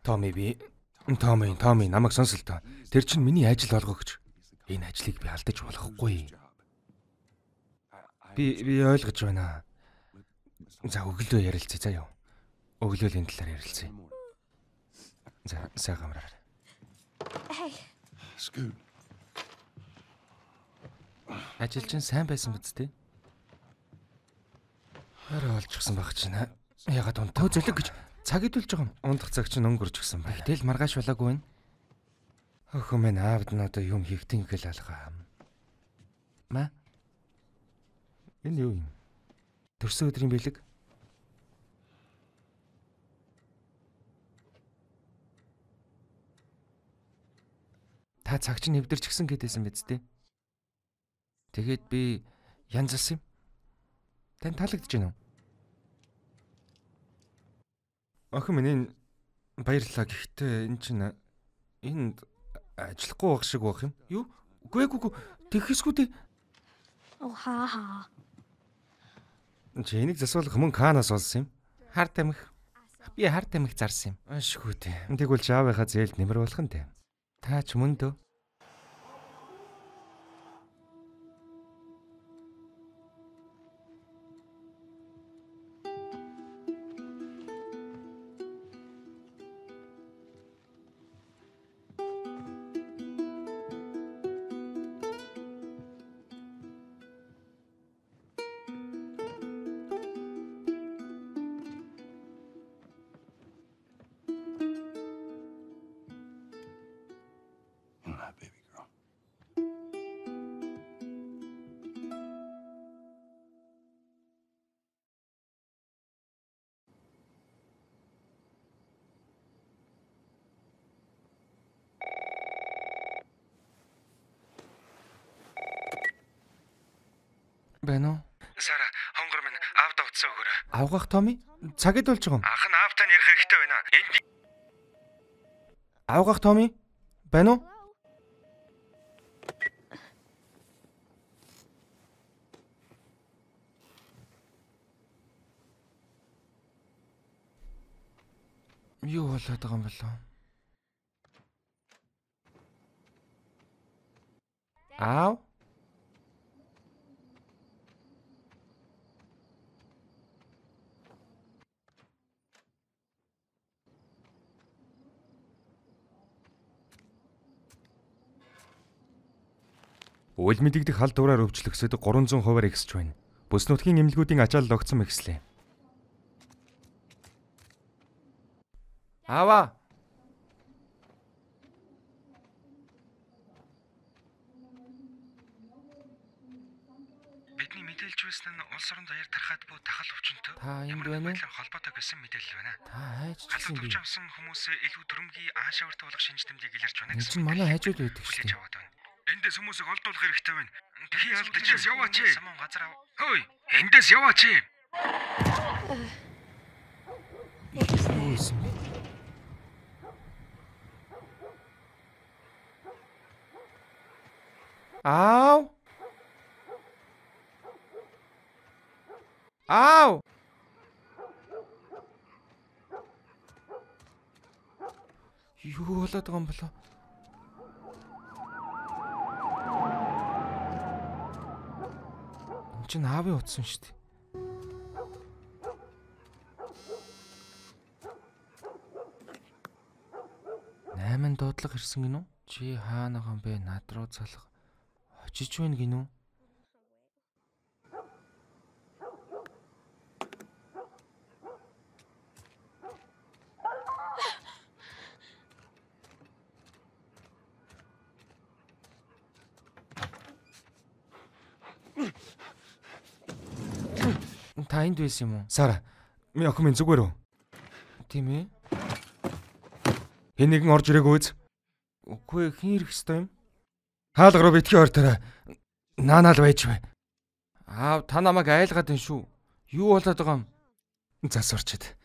Томми намайг сонсол тоо. Тэр чинь миний ажил болгогч. Энэ ажлыг би алдаж болохгүй. Би ойлгож байна. За өглөө ярилцъя заа юу. Өглөө энэ талаар ярилцъя. За сайхан амраарай. Scoot. Ажил чинь сайн байсан биз дээ? Орой олчихсан баг чинь. Ягаад унтаа зөлөг гэж цаг идүүлж байгаа юм. Ундах цаг чинь өнгөрч гисэн баг. Тэгэл маргааш болоогүй байна. Өхөө минь аавд нь одоо юм хийхтэн гэл алгаа. Ма? Энэ юу юм? Төрсөн өдрийн бэлэг? Та цаг чинь нэвдэрч гисэн гэдээсэн биз дээ? Тэгээд би янзалсан юм. Тань таалагдж байна уу? Охин минь энэ баярлалаа гэхдээ энэ чинь энд ажиллахгүй байх шиг байх юм. Юу? Үгүй тэгэхсгүй дээ. хаа. Чи энийг засварлах мөн Канаас олсон юм. Хар тамхи. Би хар тамхи зарсан юм. Ашгүй дээ. Тэгвэл Жавынхаа зээлд нэмэр болох нь дээ. Та ч мөн дөө. Baby girl. Байна уу? Сара, хонгор минь аавда утсаа өгөөрэй. Авгах Томми? Цаг идүүлж байгаа юм. Ах нь аавтай ярих хэрэгтэй байна. Энд Авгах Томми? Байна уу? Юу болоод байгаа юм болов? Аав? Үйл мэдэгдэх хал дураар өвчлөгсөд 300% ихсэж байна. Бүс нутгийн эмнэлгүүдийн ачаалал огцом ихслээ. Аава. бидний мэдээлж байсан нь улс орон даяар тархаад буй тахал өвчнөд Та энд байна уу? холбоотой гэсэн мэдээлэл байна. Та хайж Халдвар чилсэн би. төвч авсан хүмүүсээ илүү төрөмгийн аашаавартай болох шинж тэмдэг илэрч байна Энэ гэсэн. чинь манай хажууд байдаг шүү Хүлээж дээ. аваад байна. Эндээс хүмүүсийг олдуулах хэрэгтэй байна. Тхий алдчихсан яваач. Самун газар ав. Хөөе, эндээс яваач. Юу исэн бэ? Аав. Аав. Юу болоод байгаа юм болоо? Энд чинь аавын утсан шүү дээ. Найман дуудлага ирсэн гинүү? Чи хаана байгаа юм бэ? Над руу залах. Очиж байна гинүү? Та энд байсан юм уу? Сара, минь охин минь зүгээр үү? Тийм ээ. Хэн нэгэн орж ирээгүй үз? Үгүй хэн ирэх ёстой юм? Хаалга руу битгий ортороо. Наанаал байж бай. Аав та намайг айлгаад байна шүү. Юу болоод байгаа юм? Засварчид.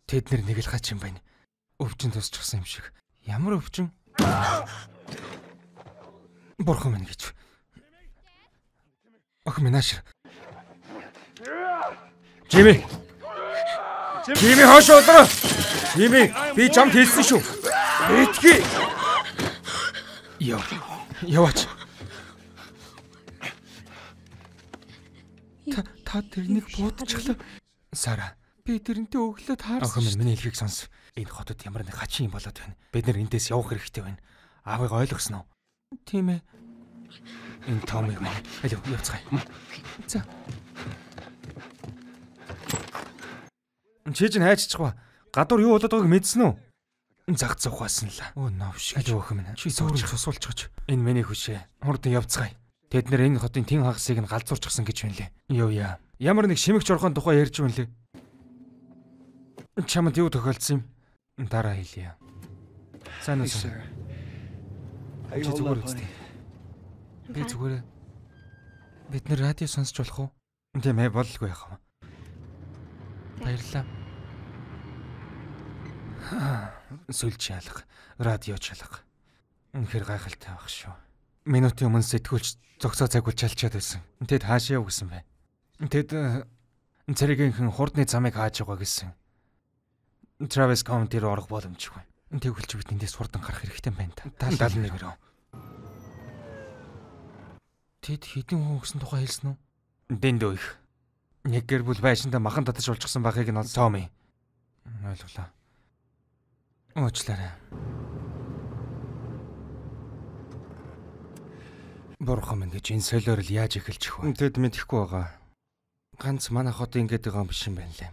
Тэд нэр нэг л хач юм байна. Өвчин тусчихсан юм шиг. Ямар өвчин? Бурхан минь гэж. Охин минь ааш. Жими. Тими хоош удраа. Тими би чамд хэлсэн шүү. Битгий. Яваач. Та тэрнийг буудчихлаа. Сара, би тэрнтэй өглөө таарсан. Охин минь миний хэлхийг сонс. Энэ хотод ямар нэг хачин юм болоод байна. Бид нэр эндээс явах хэрэгтэй байна. Аавыг ойлгосноо? Тийм ээ. Энэ Томми байна. Алив явцгаая. За. Чиж хайччихва. Гадуур юу болоод байгааг мэдсэн үү? Зах зуухаасан л. Өө новш. Алив охин минь. Чи сууж сусуулчихж. Энэ миний хүшээ. Хурдан явцгаая. Тэд нэр энэ хотын тэн хагасыг нь галзуурчихсан гэж байна лээ. Юу яа. Ямар нэг шимэгч орхон тухай ярьж байна лээ. Чамд юу тохиолдсон юм? Дараа хэлье. Сайн уу? Чи зүгээр үстэй. Би зүгээр. Бид нэр радио сонсч болох уу? Тийм ээ, бололгүй яах вэ? Баярлалаа. Сүлж ялах, радио чалах. Үнэхээр гайхалтай байх шүү. Минутын өмнө сэтгүүлч зогсоо цагуул чалчаад байсан. Тэд хаашаа яв гэсэн бэ? Тэд цэрэгийнхэн хурдны замыг хааж байгаа гэсэн. Travis County руу орох боломжгүй. Тэгвэл чи бид эндээс хурдан гарах хэрэгтэй байна та. 71 рүү. Тэд хэдэн хүн өгсөн тухай хэлсэн үү? Дэндөө их. Нэг гэр бүл байшинда махан татаж болчихсон байхыг нь Томми. Ойлголоо. Уучлаарай. Бурхан минь гэж энэ солиор л яаж эхэлчих вэ? Тэд мэдэхгүй байгаа. Ганц манай хот ингэж байгаа юм биш юм байна лээ.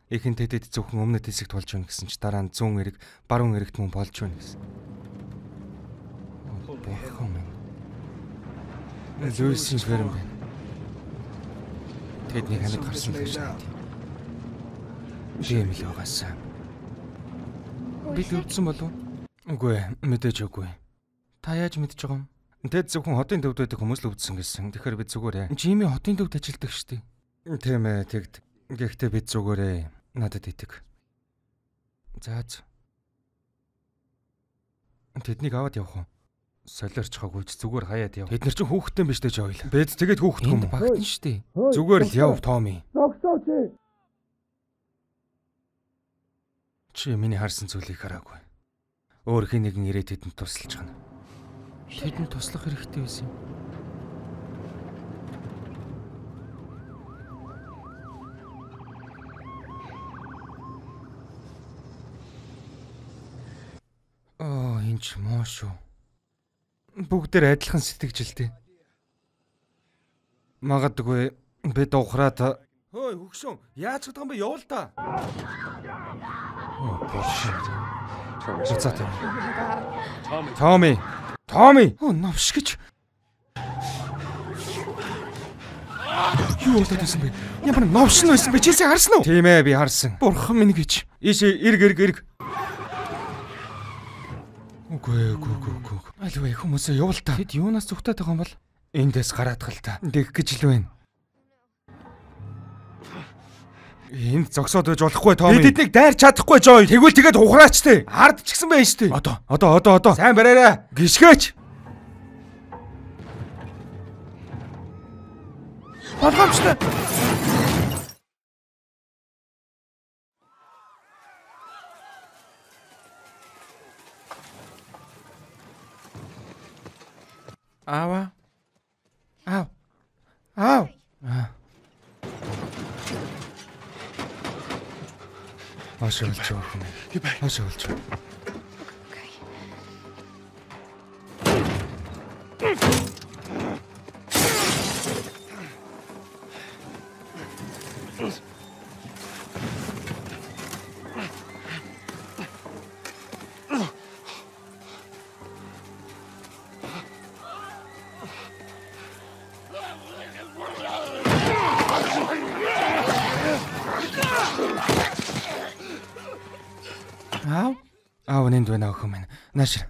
Эхэн тэдэд зөвхөн өмнөд хэсэгт болж байна гэсэн чи дараа нь 100 эрэг баруун эрэгт мөн болж байна гэсэн. Бурхан минь. Луйсийн ферм байна. Тэдний ханад гарсан л гэж байна. Тийм л байгаасаа. Бид өвдсөн болов? Үгүй, мэдээж үгүй. Та яаж мэдж байгаа юм? Тэд зөвхөн хотын төвд байдаг хүмүүс л өвдсөн гэсэн. Тэгэхээр бид зүгээрээ. Жими хотын төвд ажилладаг шүү дээ. Тийм ээ, тэгд. Гэхдээ бид зүгээрээ надад идэг. Зааз. Тэднийг аваад явах уу? Солиорч хаагүй зүгээр хаяад яв. Бид нар ч хүүхдтэй биш дээ Жойл. Бид тэгээд хүүхдгүй юм. Багтан шүү дээ. Зүгээр л яв Томми. Зогсоо чи. Чи миний харсан зүйлийг хараагүй. Өөр хин нэгэн ирээд тэдэнд тусалж гана. Тэдэнд туслах хэрэгтэй байсан юм. Энэ ч муу шүү. Бүгдээр адилхан сэтгэжэлтэй. Магадгүй бид ухраад хөөе хөгшөн яаж чадах юм бэ явал та. Томми. Новш гэж. Юу болоод байсан бэ? Ямар новш нь байсан бэ? Чи харсан уу? Тийм ээ би харсан. Бурхан минь гэж. Ийшээ эрг. Үгүй. Альваа хүмүүсээ явал та. Тэд юунаас зүгтээд байгаа юм бол? Эндээс гараад гал та. Дэх гэж л байна. Энд зогсоод байж болохгүй Томми. Бид эднийг дайрч чадахгүй Жой. Тэгвэл тэгээд ухраач те. Хард ч гисэн байж те. Одоо. Сайн бариараа. Гიშгээч. Болгоомжтой. Аав. Ашиглаж байгаа. Ашиглаж. Аав нэнд байна охин минь. Наашир.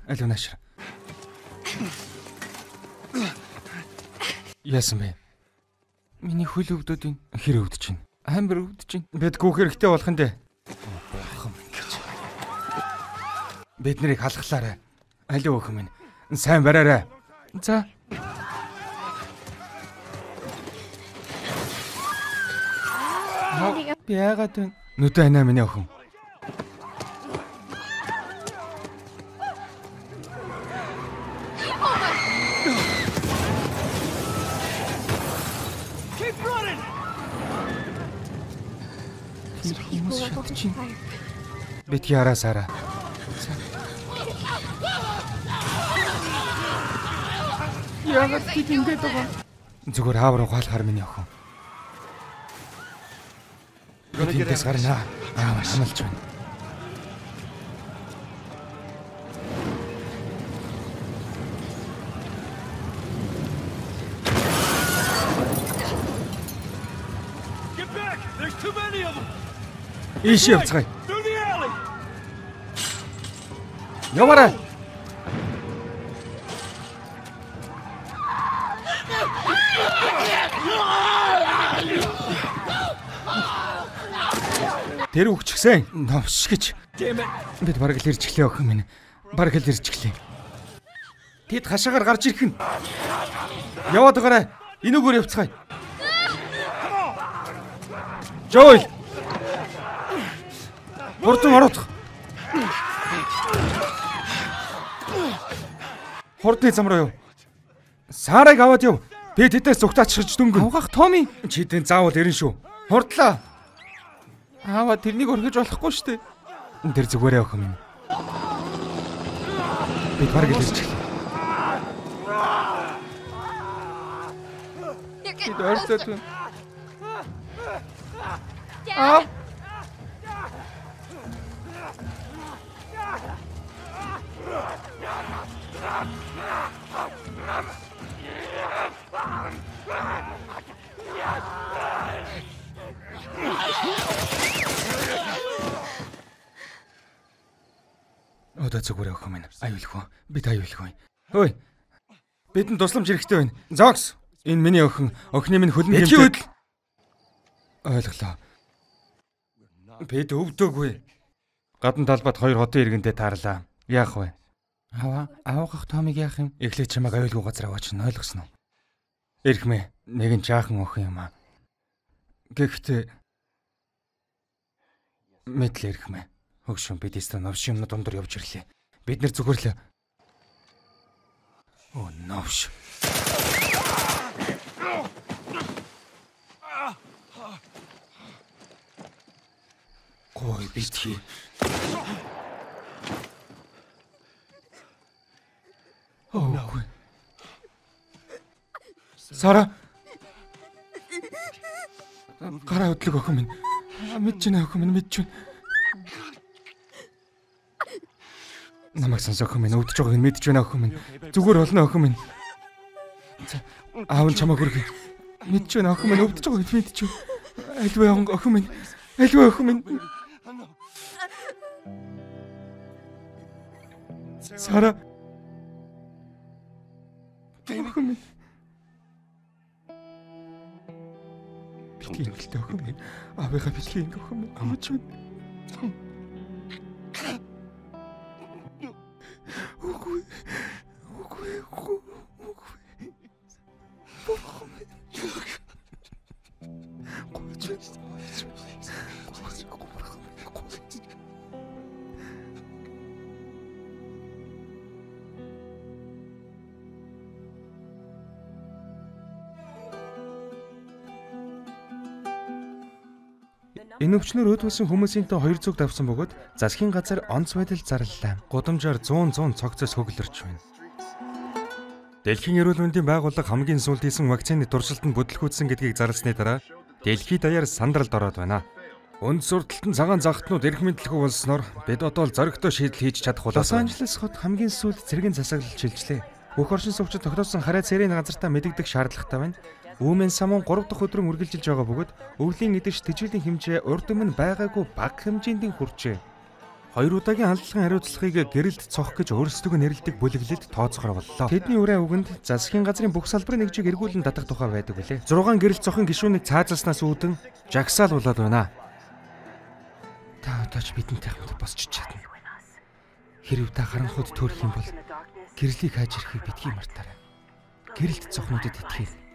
Яасан бэ? Миний хөл өвдөд хэр өвдөж байна? Амар өвдөж байна. Бид гүөх хэрэгтэй болох нь дээ. Охин минь гэж. Бид нарыг халахлаарай. Алив охин минь. Сайн бариарай. За. Би яагаад вэ? Нүдэ анаа миний охин. Бит яра Сара. Яагаад тийгээд байгаа? Зүгээр аавар ухаалахаар миний охин. Гэнэс гарна. Аавар хамлж байна. Ийш явцгаая. Яваарай. Тэр үгчгсэн новш гэж. Бид бараг л ирж гэлээ охин минь. Бараг л ирж гэлээ. Тэд хашаагаар гарч ирэх нь. Яваад байгаарай. Энүүгээр явцгаая. Жойл. Хурдан орох. Хурдны зам руу яв. Сарыг аваад яв. Би тэдээс зүгтаачихж дөнгөн. Авгах Томи. Чидэн заавал ирэн шүү. Хурдлаа. Аава тэрнийг орхиж болохгүй шүү дээ. Тэр зүгээрээ охин минь. Би бараг л ирчихлээ. Бид орсод. Аа. Өдөө зүгээр охин минь. Аюулгүй. Бид аюулгүй. Хөөе. Бидэнд тусламж хэрэгтэй байна. Зокс. Энэ миний охин. Охины минь хөлн хэмжээ. Ойлголоо. Бид өвдөөгүй. Гадна талбайд 2 хотын иргэндээ таарлаа. Яах вэ? Аваах Томиг яах юм? Эхлээд чамайг аюулгүй газар аваач нь ойлгосноо. Эрхмээ. Нэгэн жаахан охин юм аа. Гэхдээ мэдлээ эрхмээ. Хөгшин бид эстэ новш юмнууд дундор явж ирлээ. Бид нэр зүгэрлээ. Оо новш. Гой битгий. Оо. Сара. Гараа хөдлөг охин минь. Мэдж байна охин минь мэдж байна. Намайг сонсох охин минь өвдөж байгааг нь мэдж байна охин минь. Зүгээр болно охин минь. Аав нь чамайг хүргэх. Мэдж байна охин минь өвдөж байгааг нь мэдж байна. Альваа охин минь. Альваа охин минь. Сара. Охин минь. Битгий хэлтэй охин минь. Аавынхаа битгий охин минь. Амж байна. Үгүй. Энэ өвчнөр өөдөөсөн хүмүүсийнтэй 200 давсан бөгөөд засгийн газар онц байдал зарлалаа. Гудамжаар 100 цогцоос хөглөрч байна. Дэлхийн эрүүл мэндийн байгууллага хамгийн сүүлд хийсэн вакцины туршилтанд бүтлгүүцсэн гэдгийг зарласны дараа дэлхийд даяар сандралд ороод байна. Үнд сурталтан цагаан загтнууд эрх мэдлэхүй болсноор бид одоо л зоригтой шийдэл хийж чадах болоо. Лос Анжелес хот хамгийн сүүлд цэргийн засаглал шилжлээ. Бүх оршин суугчид тогтоосон хараа цэрийн газартаа мэдэгдэх шаардлагатай байна. Үүмэн самун 3 дахь өдрөн үргэлжилж байгаа бөгөөд өвлийн эдэгч тэжээлийн хэмжээ урд өмнө байгаагүй бага хэмжээнд хүрчээ. 2 удаагийн халдлагын хариуцлагыг гэрэлд цох гэж өөрсдөө нэрлэдэг бүлэглэлд тооцоогоор боллоо. Тэдний үрээ үгэнд засгийн газрын бүх салбарын нэгжийг эргүүлэн татах тухай байдаг билээ. 6 гэрэлт цохын гишүүнийг цаазалснаас үүдэн жагсаал болоод байна. Та одоо ч бидэнтэй хамт босч чадна. Хэрв та харанхуйд төрөх юм бол гэрлийг хайж ирэхийг битгий мартаарай. Гэрэлт цохнуудад итгэх.